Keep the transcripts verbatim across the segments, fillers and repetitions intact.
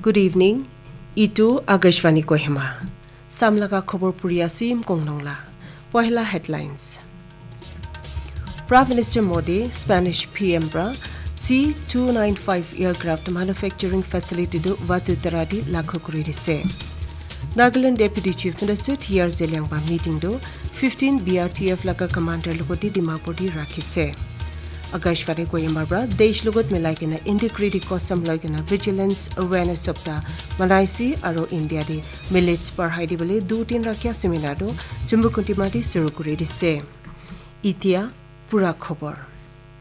Good evening. Itu Akashvani Kohima. Samlaga khobor puri asim kongnong la. Pohila headlines. Prime Minister Modi, Spanish P M pra C two nine five aircraft manufacturing facility du Vatutara di lakhu kuri dise. Nagaland Deputy Chief Minister T R Zeliang ba meeting du fifteen B R T F laga commander logoti Dimapur di rakhise. Akashvani Kohima pra desh logot milai kena integrity kosam loi kena vigilance awareness sapta manaisi aru India di millets parhai di bole du tin rakya seminar du Chumbukutima di suru kuri dise. Itia pura khobor.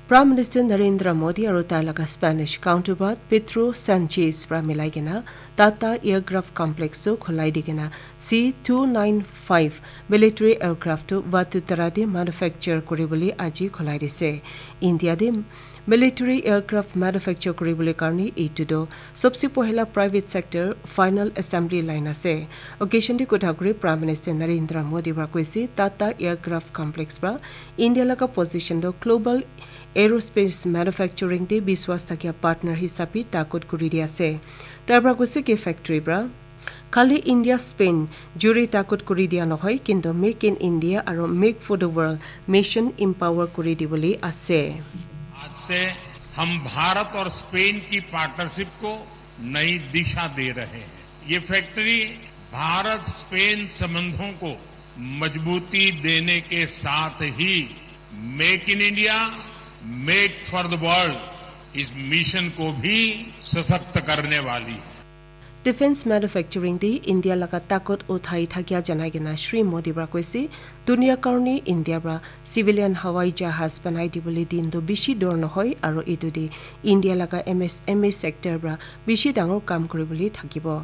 Prime Minister Narendra Modi aru tai laga Spanish counterpart Pedro Sanchez pra milai kena Tata Aircraft Complex tu khulai di kena C two nine five military aircraft tu Vatutara de manufacture kuri bole aji khulai dise. India de military aircraft manufacture kuri bole karne itu do sobse pohila private sector final assembly line ase. Occasion de kotha kuri Prime Minister Narendra Modi pra koise Tata Aircraft Complex pra India laga position do global aerospace manufacturing te biswas thakia partner hisabe takut kuri di ase. Tar pra koise ki factory pra khali India Spain juri takut kuri dia nohoi, kintu Make in India aru Make for the World mission empower kuri di bole ase. आज से हम भारत और स्पेन की पार्टनरशिप को नई दिशा दे रहे हैं। ये फैक्ट्री भारत स्पेन संबंधों को मजबूती देने के साथ ही make in India, make for the world इस मिशन को भी सशक्त करने वाली है। Defense manufacturing de India laga takut uthai thakia janai kena Shri Modi pra koise, dunia karne India pra civilian hawai jahaz banai di bole din do bishi dur nohoi aru itu de India laga M S M E sector pra bishi dangor kam kuri bole thakibo.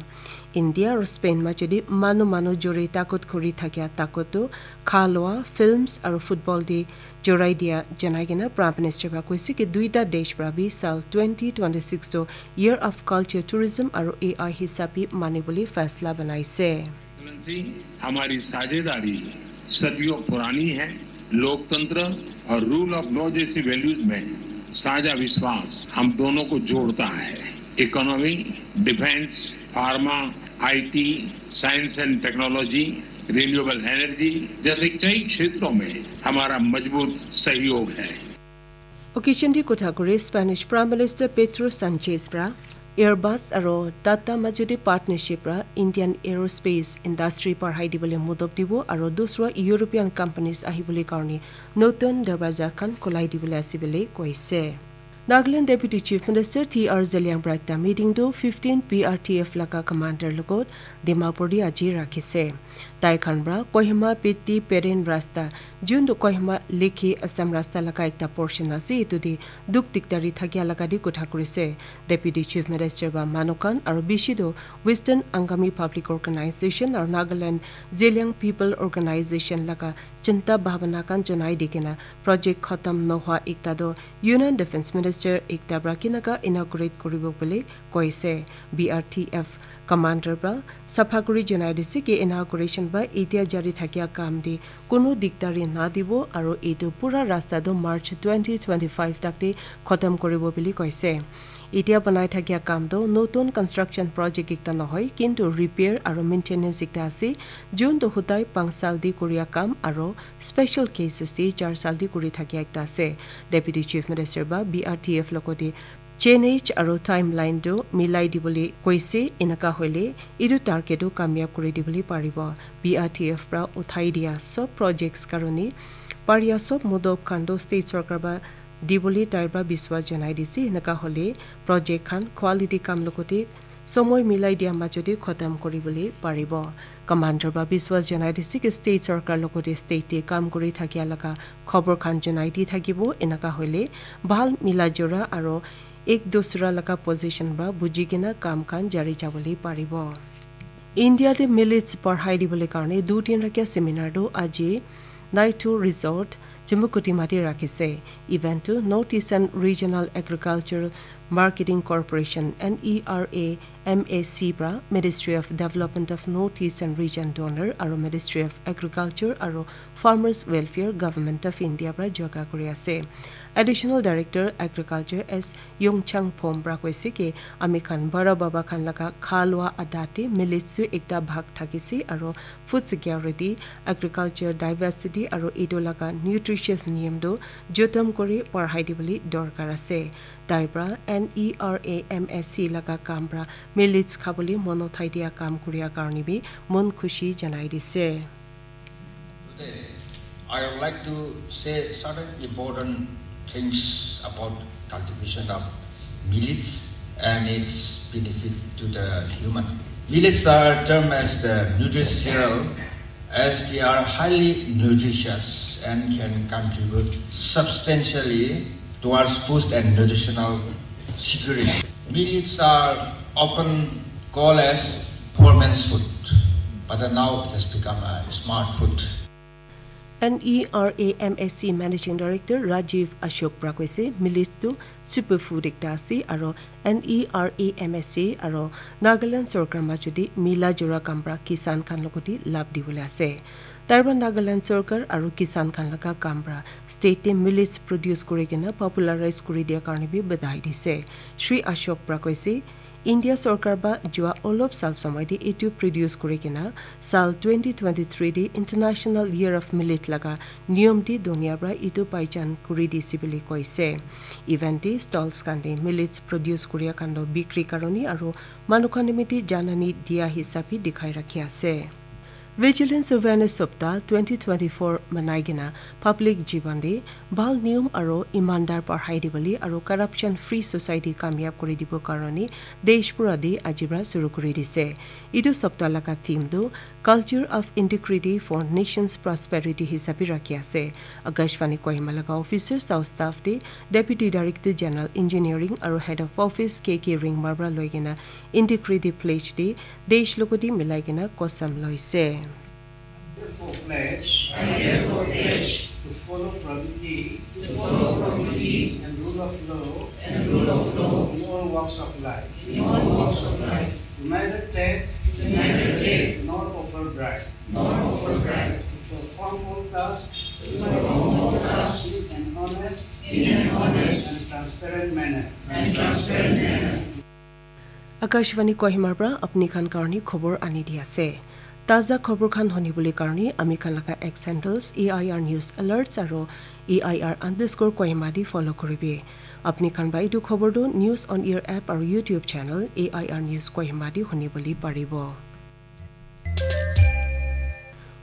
India aru Spain majodi manu manu juri takut kuri thakia takut tu kha loa, films aru football de jorai dia janai kena Prime Minister pra koise ki duita desh pra bi sal twenty twenty-six to Year of Culture, Tourism aru A I hisabe mani bole faisla banaise. Excellency, हमारी साझेदारी सदियों पुरानी है। लोकतंत्र और rule of law जैसी वैल्यूज में साझा विश्वास हम दोनों को जोड़ता है। Economy, defence, pharma, IT, science and technology, renewable energy जैसे कई क्षेत्रों में हमारा मजबूत सहयोग है। Occasion de kotha kuri Spanish Prime Minister Pedro Sanchez pra Airbus aru Tata majodi partnership pra Indian aerospace industry parhai di bole modop dibo aru dusra European companies ahi bole karne notun darwaza khan khulai di bole ase bole koise. Nagaland Deputy Chief Minister T R Zeliang pra ekta meeting tu fifteen P R T F laga commander logot Dimapur di aji rakhise. Tai khan pra Kohima Piti Peren rasta, jun tu Kohima Lekhi Assam rasta laga ekta portion ase, itu de duk dikdari thakia laga de kotha kurise. Deputy Chief Minister pra manu khan aru bishi tu Western Angami Public Organization aru Nagaland Zeliang People Organization laga chinta bhabana khan janai di kena project khatam nohwa ekta tu Union Defence Minister ekta pra kinaka inaugurate kuribo bole koise. B R T F commander pra sapha kuri janai dise ki inauguration ba itia jari thakia kam de kunu dikdari na dibo aru etu pura rasta tu March twenty twenty-five tak de khatam kuribo bole koise. Itia banai thakia kam tu notun construction project ekta nohoi, kintu repair aru maintenance ekta ase, jun tu hudai panch sal de kuria kam aru special cases de char sal de kuri thakia ekta ase. Deputy Chief Minister ba B R T F logote change aru timeline tu milai di bole koise, enaka hoile itu target tu kamyab kuri di bole paribo. B R T F pra uthai dia sob projects karone paria sob modop khan tu state sarkar ba di bole tai pra biswas janai dise, enaka hoile project khan quality kam logote somoi milai dia majodi khatam kuri bole paribo. Commander pra biswas janai dise ki state sarkar logote state de kam kuri thakia laga khobor khan janai di thakibo, enaka hoile bhal mila jora aru ek dusra laga position pra buji kena kam khan jari jabole paribo. India de millets parhai di bole karne du tin rakya seminar tu aji Naito Resort, Chumbukutima de rakhise. Event tu North Eastern Regional Agricultural Marketing Corporation, N E R A M A C, pra Ministry of Development of North East and Region, DoNER, aro Ministry of Agriculture aro Farmers Welfare, Government of India pra jaga kuri ase. Additional Director Agriculture S Yongchang Phom pra koise ki ami khan bara baba khan laga kha lua adat te millets tu ekta bhag thakise aro food security, agriculture diversity aro etu laga nutritious niyam tu jotom kuri parhai dibole dorkar ase. Tai pra N E R A M A C laga kam pra millets khabole mon uthai dia kam kuria karne bi mon khushi janai dise. Today, I would like to say certain important things about cultivation of millets and its benefit to the human. Millets are termed as the nutritious cereal as they are highly nutritious and can contribute substantially towards food and nutritional security. Millets are often called as poor man's food, but now it has become a smart food. N E R A M A C Managing Director Rajiv Ashok pra koise, millets tu superfood ekta ase aro N E R A M A C aro Nagaland sorkar majot te mila jora kam pra kisan khan logote labh dibole ase. Tai pra Nagaland sorkar aro kisan khan laga kam pra state te millets produce kuri kena popularize kuri dia karne bi badhai dise. Shri Ashok pra koise, India sorkar ba jua olop sal somoi te etu produce kuri kena sal twenty twenty-three te International Year of Millet laga niyom te dunia pra etu paijan kuri dise bole koise. Event te stalls khan te millets produce kuria khan toh bikri karone aro manu khan nimite janani dia hisab bi dikhai rakhi ase. Vigilance Awareness Saptah twenty twenty-four manai kena public jiban te bhal niyom aro imandar parhai dibole aro corruption free society kamyab kuri dibo karone desh pura te aji pra shuru kuri dise. Etu saptah laga theme tu Culture of Integrity for Nation's Prosperity hisabe rakhi ase. Akashvani Kohima laga officers aro staff te Deputy Director General Engineering aro Head of Office K K Ringmar pra loi kena Integrity Pledge te desh logote milai kena kosam loise. Therefore pledge, I therefore pledge to follow probity, to follow probity and rule of law, and rule of law in all walks of life, in all walks of life, to neither take, to neither take nor offer bribe, nor offer bribe, to perform all tasks, to perform all tasks in an honest, in an honest and transparent manner, and transparent manner. Akashvani Kohima pra apni khan karni khobor ani di ase. Taza khobor khan honi bole karni ami khan laga X handles A I R News Alerts aro A I R underscore Kohima di follow kuribi. Apni khan ba etu khobor tu News on Air app aro YouTube channel A I R News Kohima di honi bole paribo.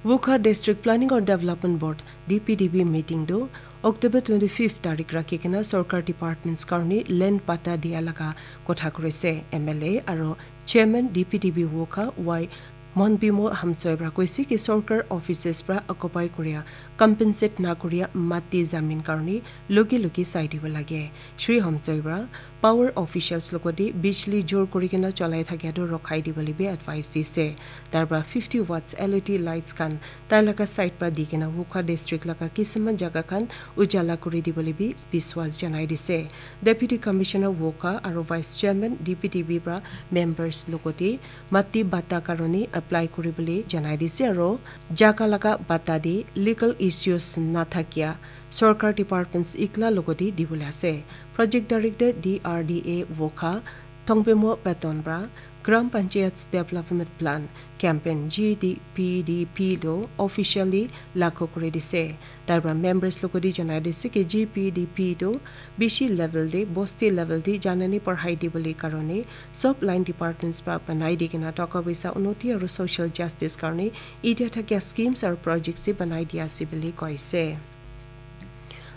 Wokha District Planning or Development Board, D P D B meeting tu October twenty-fifth tarik rakhi kena sorkar departments karni land patta dia laga kotha kurise. M L A aro Chairman D P D B Wokha Y Monbimo Hamchoi pra koise ki sorkar offices pra occupy kuria compensate na kuria mati zamin karni logi logi sai dibo lage. Shri Hamchoi pra power officials logote bijli jor kuri kena cholai thakia tu rokhai dibole bi advice dise. Tar pra fifty watts L E D lights khan tai laga side pra di kena Wokha district laga kisima jaga khan ujala kuri dibole bi biswas janai dise. Deputy Commissioner Wokha aro Vice Chairman D P D B pra members logote mati bata karone apply kuribole janai dise aro jaga laga bata de legal issues nathakia sorkar departments ikla logote dibole ase. Project Director D R D A Wokha Thongpemo Patton pra Gram Panchayats Development Plan Campaign G D P D P tu officially laghu kuri dise. Tar pra members logote janai dise ki G P D P tu bishi level de, bosti level de janani parhai dibole karone sob line departments pra banai di kena toka poisa unnoti aro social justice karone etia thakia schemes aro projects se banai dia ase bole koise.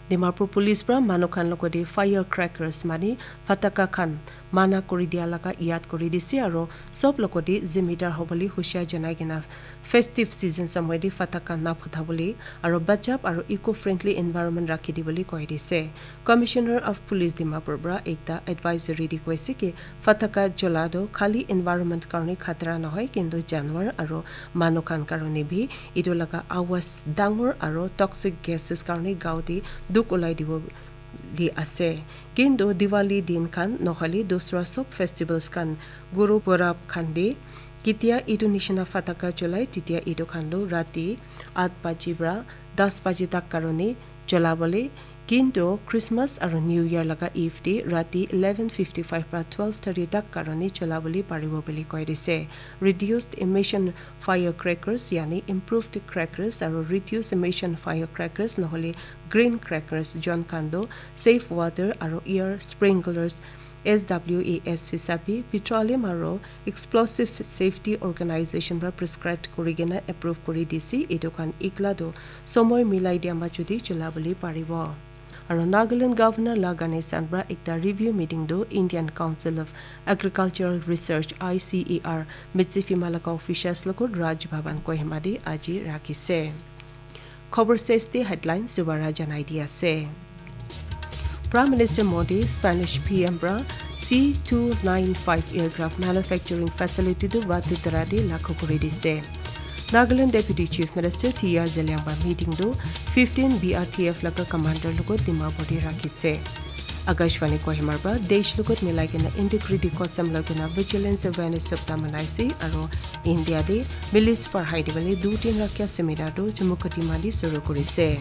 Dimapur Police pra manu khan logote firecrackers mane phataka khan mana kuri dia laga yad kuri dise aro sob logote zimidar hobole hushiar janai kena festive season somoy te phataka na phutabole aro bachap aro eco-friendly environment rakhi dibole koi dise. Commissioner of Police Dimapur pra ekta advisory te koise ki phataka jola tu khali environment karne khatra nohoi kintu janwar aro manu khan karne bi etu laga awaz dangor aro toxic gases karne gao te dukh ulai dibo li ase. Kintu Diwali din khan nohole dusra sob festivals khan Guru Purab khan de ketia etu nishina fataka cholai, tetia etu khan tu rati aat baji pra das baji tak karone cholabole, kintu Christmas aru New Year laga Eve de rati eleven fifty-five pra twelve thirty tak karone cholabole paribo bole koi dise. Reduced emission firecrackers, yani improved crackers aru reduced emission firecrackers nohole green crackers jon khan tu Save Water aru Air Sprinklers, S W A S hisabe Petroleum aru Explosive Safety Organization pra prescribed kuri kena approve kuri dise. Etu khan ikla tu somoi milai dia majo de cholabole paribo. Aru Nagaland Governor Lagane Sanbra ekta review meeting tu Indian Council of Agricultural Research, I C A R, Mitsifima laga officials logot Raj Bhavan Kohima de aji rakhise. Khobor sesde headlines dubara janai di ase. Prime Minister Modi Spanish P M pra C two nine five aircraft manufacturing facility tu Vadodara de lakhu kuri dise. Nagaland Deputy Chief Minister T R Zeliang pra meeting tu fifteen B R T F laga commander logot Dimapur de rakhise. Akashvani Kohima pra desh logot milai kena integrity kosam loi kena vigilance awareness sapta manaise aru India de milice parhai de bole du tin rakya seminar tu Chumukedima de suru kurise.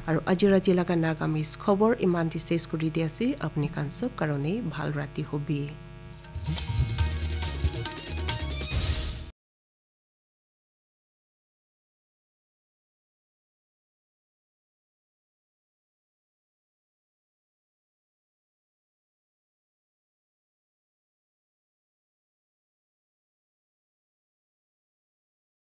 Aru aji rati laga Nagamese khobor iman de ses kuri di ase. Apni khan sob karone bhal rati hobi.